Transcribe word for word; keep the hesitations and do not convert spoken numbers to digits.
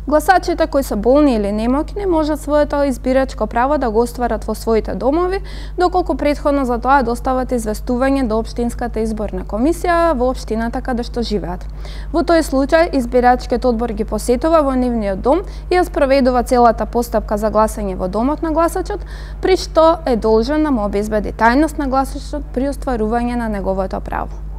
Гласачите кои се болни или немоќни можат своето избирачко право да го остварат во своите домови, доколку претходно за тоа достават известување до општинската изборна комисија во општината каде што живеат. Во тој случај избирачкиот одбор ги посетува во нивниот дом и ја спроведува целата постапка за гласање во домот на гласачот, при што е должен да му обезбеди тајност на гласачот при остварување на неговото право.